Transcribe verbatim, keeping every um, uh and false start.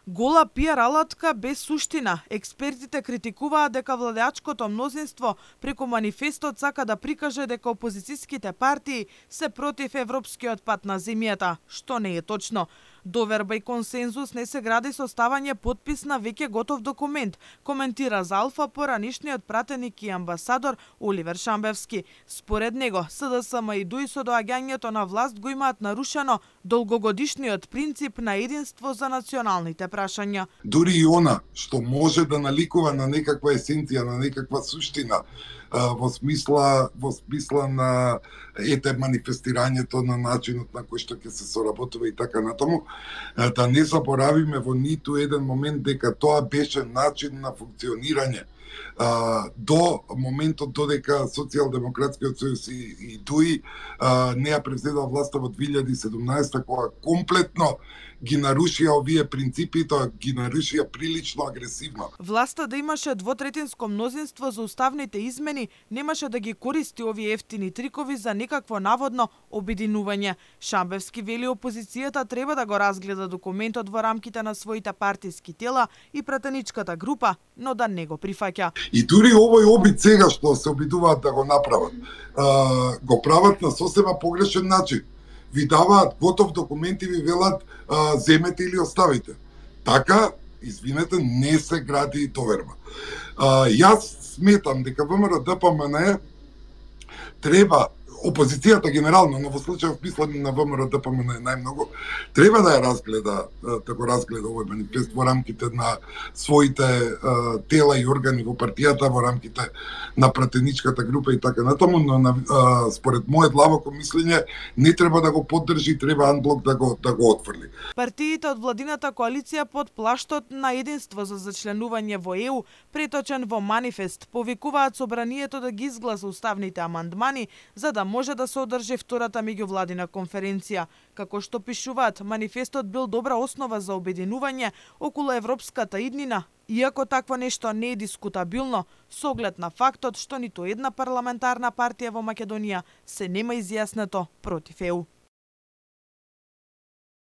Гола пиар алатка без суштина. Експертите критикуваат дека владеачкото мнозинство преку манифестот сака да прикаже дека опозицијските партии се против европскиот пат на земјата, што не е точно. Доверба и консензус не се гради со ставање потпис на веќе готов документ, коментира за Алфа поранишниот пратеник и амбасадор Оливер Шамбевски. Според него, СДСМ и ДУИ со доаѓањето на власт го имаат нарушено долгогодишниот принцип на единство за националните прашања. Дури и она што може да наликува на некаква есенција, на некаква суштина, во смисла во смисла на ете манифестирањето на начинот на кој што ќе се соработува и така натаму, да не заборавиме во ниту еден момент дека тоа беше начин на функционирање до моментот додека Социјалдемократскиот сојуз и, и ДУИ не ја превзедоа власта во две илјади и седумнаесета, кога комплетно ги нарушија овие принципи, тоа ги нарушија прилично агресивно. Власта да имаше двотретинско мнозинство за уставните измени, немаше да ги користи овие ефтини трикови за некакво наводно обединување. Шамбевски вели опозицијата треба да го разгледа документот во рамките на своите партиски тела и пратеничката група, но да не го прифаќа. И дури овој обид сега што се обидуваат да го направат, го прават на сосема погрешен начин. Ви даваат готов документ и ви велат а, земете или оставите. Така, извинете, не се гради доверба. А, јас сметам дека ВМРО-ДПМН треба, опозицијата генерално, но во случајот мислам на ВМРО-ДПМН најмногу, треба да ја разгледа, да го разгледа овој манифест во рамките на своите а, тела и органи во партијата, во рамките на пратеничката група и така натаму, но на, а, според моје длабоко мислење не треба да го поддржи, треба анблок да го да го отфрли. Партиите од владината коалиција под плаштот на единство за зачленување во Е У, преточен во манифест, повикуваат собранието да ги изгласа уставните амандмани за да може да се одржи втората меѓувладина конференција. Како што пишуваат, манифестот бил добра основа за обединување околу европската иднина, иако такво нешто не е дискутабилно, со оглед на фактот што ниту една парламентарна партија во Македонија се нема изјаснето против Е У.